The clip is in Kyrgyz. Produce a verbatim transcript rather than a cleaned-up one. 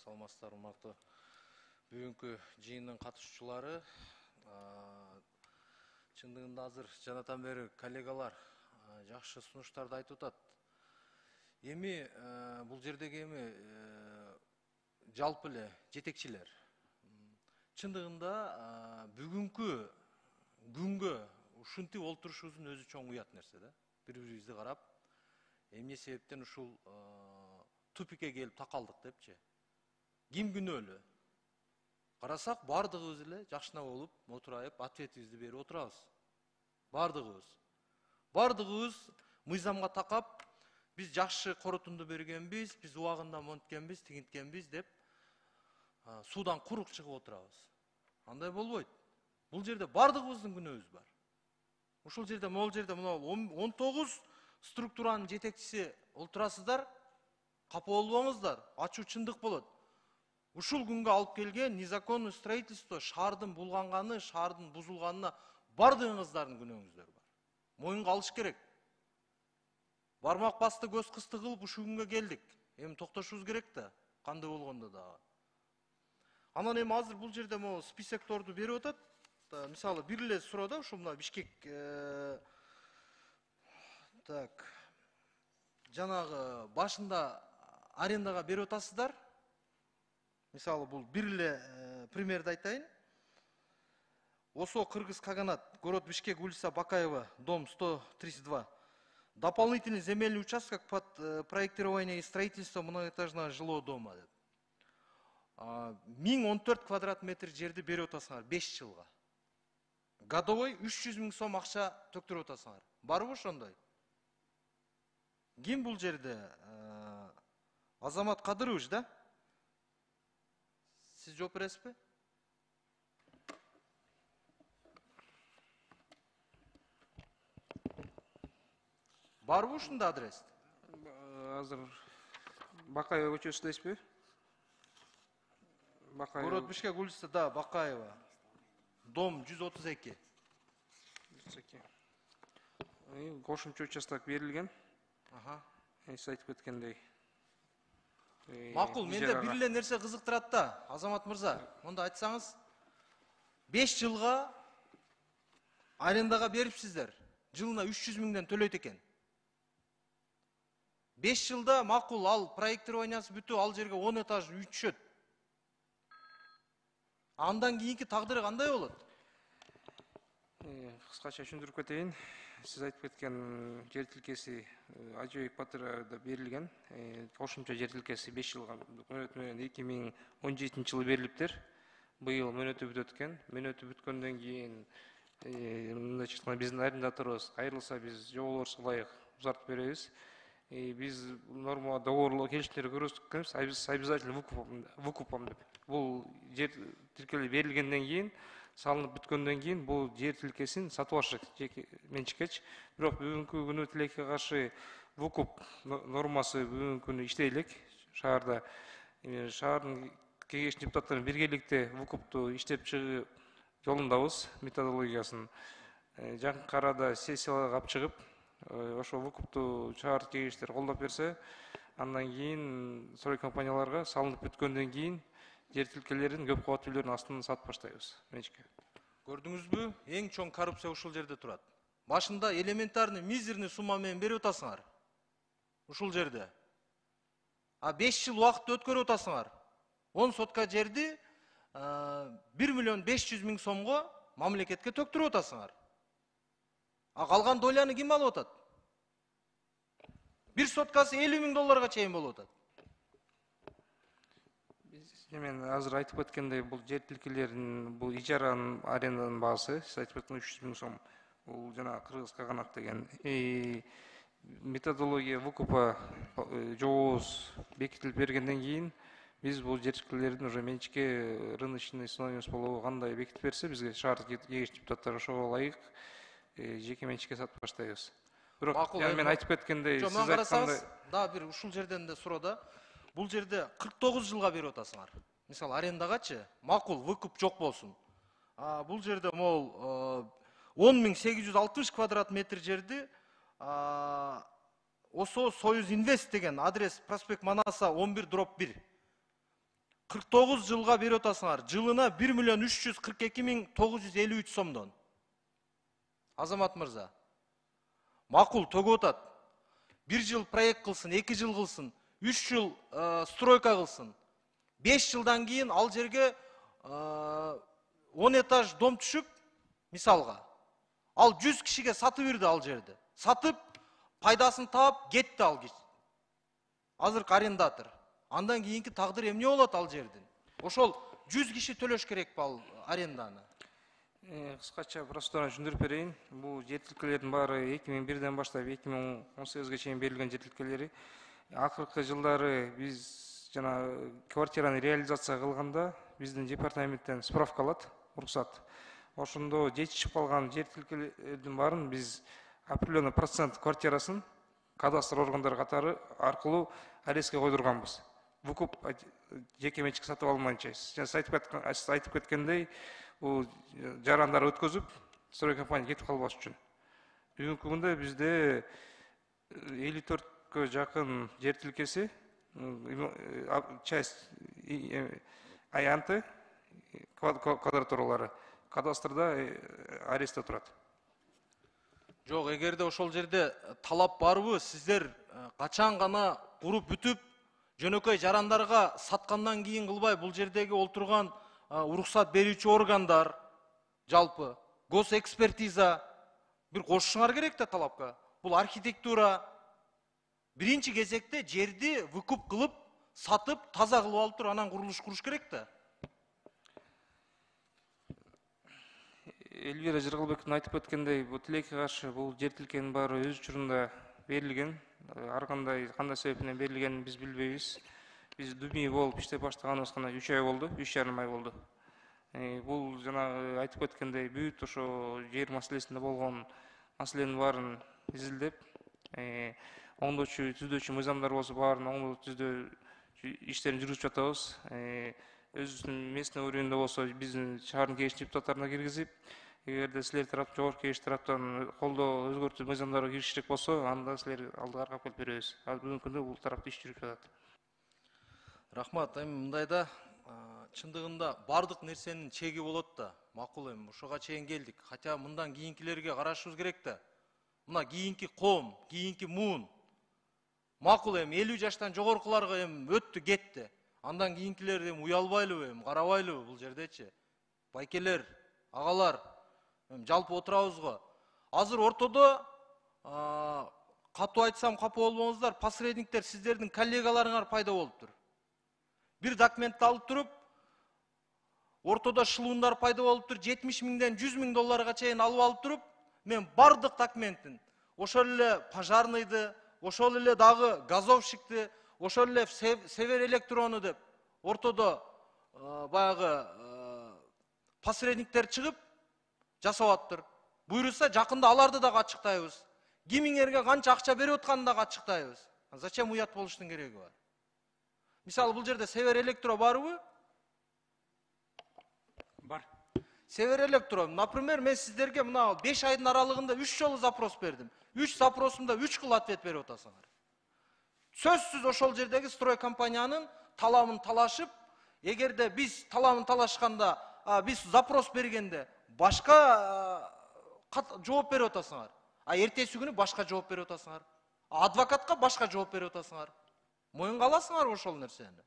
Саламатсыздар, урматтуу бүгүнкү жыйындын катышуучулары. Чындыгында азыр жанатан бери коллегалар жакшы сунуштарды айтып атат. Эми бул жердеги эми жалпы эле жетекчилер чындыгында бүгүнкү күнгө ушинтип олтурушубуздун өзү чоң уят нерсе да. Бири-бирибизди карап, эмне себептен ушул тупикке келип такалдык депчи. Ким күнөөлүү? Карасак, бардыгыбыз эле жакшына болуп, отурайып, ответибизди берип отурабыз. Бардыгыбыз. Бардыгыбыз мыйзамга такап, биз жакшы корутунду бергенбиз, биз убагында монткенбиз, тигинткенбиз деп суудан курук чыгып отурабыз. Андай болбойт. Бул жерде бардыгыбыздын күнөөбүз бар. Ушул жерде, могул жерде мына он тогуз структуранын жетекчиси олтурасыздар, капа болбоңуздар, ачуу чындык болот. Ушул күнгө алып келген незаконный строительство, шаардын булганганы, шаардын бузулганына бардыгыңыздардын күнөөңүздөр бар. Моюнга алыш керек. Бармак басты, көз кысты кылып ушул күнгө келдик. Эми токтошубуз керек да, кандай болгондо дагы. Анан эми азыр бул жерде могу списокторду берип атат. Мисалы, бир эле суроодо ушул мына Бишкек так жанагы башында арендага берип атасыздар. Мисалы, бул бир эле примерди айтайын. ОСО Кыргыз Каганат, город Бишкек, улица Бакаева, дом сто тридцать два. Дополнительный земельный участок под проектирование и строительство многоэтажного жилого дома. миң он төрт квадрат метр жерди берип атасыңар беш жылга. Годовой үч жүз миң сом акча төктүрүп атасыңар. Барбы ошондой? Ким бул жерде? Азамат Кадырович, да? Сиз жооп бересизби? Барбы ушунда адрес? Азыр Бакаева көчөсүндесизби? Бакаева. Город Бишкек, улица, да, Бакаева. Дом жүз отуз эки. Кошумча участок берилген. Ага. Сиз айтып кеткендей. Макул, менде бир эле нерсе кызыктырат да, Азамат мырза. Монда айтсаңыз, беш жылга арендага берипсиздер. Жылына үч жүз миңден төлөйт экен. беш жылда макул, ал проектированиясы бүтүп, ал жерге он этаж үй түшөт. Андан кийинки тагдыры кандай болот? Кыскача түшүндүрүп кетейин. Сиз айтып кеткен жер тилкеси Ажыбек Батырда берилген. Кошумча жер тилкеси беш жылга мөөнөт менен эки миң он жетинчи жылы берилиптир. Быйыл мөөнөтү бүтөт экен. Мөөнөтү бүткөндөн кийин мындайча айтканда биздин арендаторубуз кайрылса, биз жоболорубузга ылайык узартып беребиз. Биз норма договорлоо келишимдерди көрсөткөнбүз, обязательно выкупом деп. Бул жер тилкелери берилгенден кийин, салынып бүткөндөн кийин бул жер тилкесин сатып алышат жеке менчиккечи. Бирок бүгүнкү күнү тилекке каршы выкуп нормасы бүгүнкү күнү иштей элек шаарда. Шаардын кеңеш депутаттары биргеликте выкупту иштеп чыгуу жолундабыз, методологиясын. Жакынкы арада сессияларга алып чыгып, ошо выкупту шаар кеңештери колдоп берсе, андан кийин строй компанияларга салынып бүткөндөн кийин жер тилкелерин көп кабат үйлөрдүн астынан сатып баштайбыз. Көрдүңүзбү? Эң чоң коррупция ушул жерде турат. Башында элементарный, мизерный сумма менен берип атасыңар. Ушул жерде. А беш жыл убакытты өткөрүп атасыңар. он сотка жерди бир миллион беш жүз миң сомго мамлекетке төктүрүп атасыңар. А калган доляны ким алып атат? Бир соткасы элүү миң долларга чейин болуп атат. Мен азыр айтып кеткендей, бул жер тилкелеринин, бул ижаранын, аренданын баасы, сиз айтып кеткен үч жүз миң сом. Бул жана Кыргыз Каганат деген. Методология выкупа жобобуз бекитилип бергенден кийин, биз бул жер тилкелердин уже менчикке рыночный стоимость болобу кандай бекитип берсе, бизге шаар кеңеш депутаттары ошого ылайык жеке менчикке сатып баштайбыз. Бирок мен айтып кеткендей, сиз айткандай, да, бир ушул жерден да суроо да. Бул жерде кырк тогуз жылга берип атасыңар. Мисалы, арендагачы, макул, выкуп жок болсун. А бул жерде могул он миң сегиз жүз алтымыш квадрат метр жерди ОСО Союз Инвест деген адрес проспект Манаса он бир дробь бир. кырк тогуз жылга берип атасыңар. Жылына бир миллион үч жүз кырк эки миң тогуз жүз элүү үч сомдон. Азамат мырза, макул төгүп атат. Бир жыл проект кылсын, эки жыл кылсын, үч жыл стройка кылсын. беш жылдан кийин ал жерге он этаж дом түшүп, мисалга, ал жүз кишиге сатып берди ал жерди. Сатып, пайдасын таап, кетти ал киши. Азыркы арендатор. Андан кийинки тагдыр эмне болот ал жердин? Ошол жүз киши төлөш керек ал аренданы. Кыскача процедураны түшүндүрүп берейин. Бул жер тилкелердин баары эки миң бирден баштап эки миң он сегизге чейин берилген жер тилкелери. Акыркы жылдары биз жана квартираны реализация кылганда биздин департаменттен справка алат, уруксат. Ошондо жетишип калган жер тилкелердин баарын биз определенный процент квартирасын кадастр органдары катары аркылуу арестке койдурганбыз. Выкуп жеке менчик сатып алмайынча. Сиз айтып кеткендей, бул жарандар өткөзүп, строй компания кетип калбаш үчүн. Бүгүнкү күндө бизде элүү төрткө жакын жер тилкеси, часть аянты, квадратуралары кадастрда арестте турат. Жок, эгерде ошол жерде талап барбы, сиздер качан гана куруп бүтүп, жөнөкөй жарандарга саткандан кийин кылбай, бул жердеги олтурган уруксат берүүчү органдар, жалпы госэкспертиза бир кошушуңар керек да талапка. Бул архитектура биринчи кезекте жерди выкуп кылып, сатып, таза кылып алып туруп, анан курулуш куруш керек да. Элвира Жыргалбековдун айтып өткөндөй, бул тилекке каршы бул жер тилкенин баары өз учурунда берилген. Ар кандай кандай себептен берилгенин биз билбейбиз. Биз дүмүй болуп иштеп баштаганыбызга үч ай болду, үч жарым ай болду. Бул жана айтып өткөндөй бүт ошо жер маселесинде болгон маселенин баарын изилдеп, оңдоочу, түздөчү мыйзамдар болсо баарын оңдоо түздөө иштерин жүргүзүп жатабыз. Өзүбүздүн местный уровеньде болсо биздин шаардын кеңеш депутаттарына киргизип, эгерде силер тарап, жогорку кеңеш тараптан колдоо өзгөртүү мыйзамдары кириширек болсо, анда силер алдыга карап келип беребиз. Ал бүгүнкү күндө бул тарапта иш жүрүп жатат. Рахмат. Эми мындайда чындыгында бардык нерсенин чеги болот да. Макул эми ошого чейин келдик. Хотя мындан кийинкилерге карашыбыз керек да. Мына кийинки ком, кийинки муун. Макул эми элүү жаштан жогоркуларга эми өттү, кетти. Андан кийинкилер эми уялбайлыбы, эми карабайлыбы бул жердечи? Байкелер, агалар, эми жалпы отурабыз го. Азыр ортодо катуу айтсам капа болбоңуздар, посредниктер сиздердин коллегаларыңар пайда болуптур. Бир документти алып туруп, ортодо шылуундар пайда болуптур, жетимиш миңден жүз миң долларга чейин алып алып туруп, мен бардык документтин, ошол эле пожарныйды, ошол эле дагы газовщикти, ошол эле север электрону деп, ортодо баягы посредниктер чыгып жасап атыптыр. Буйруса жакында аларды дагы ачыктайбыз. Кимиңерге канча акча берип атканын дагы ачыктайбыз. Зачем уят болуштун кереги бар? Мисалы, бул жерде Север Электро барбы? Бар. Север Электро, например, мен сиздерге мына беш айдын аралыгында үч жолу запрос бердим. үч запросумда үч кыл ответ берип атасыңар. Сөзсүз ошол жердеги строй компаниянын талабын талашып, эгерде биз талабын талашканда, биз запрос бергенде башка жооп берип атасыңар. А эртеси күнү башка жооп берип атасыңар. Адвокатка башка жооп берип атасыңар. Моюнга аласыңар ошол нерсени.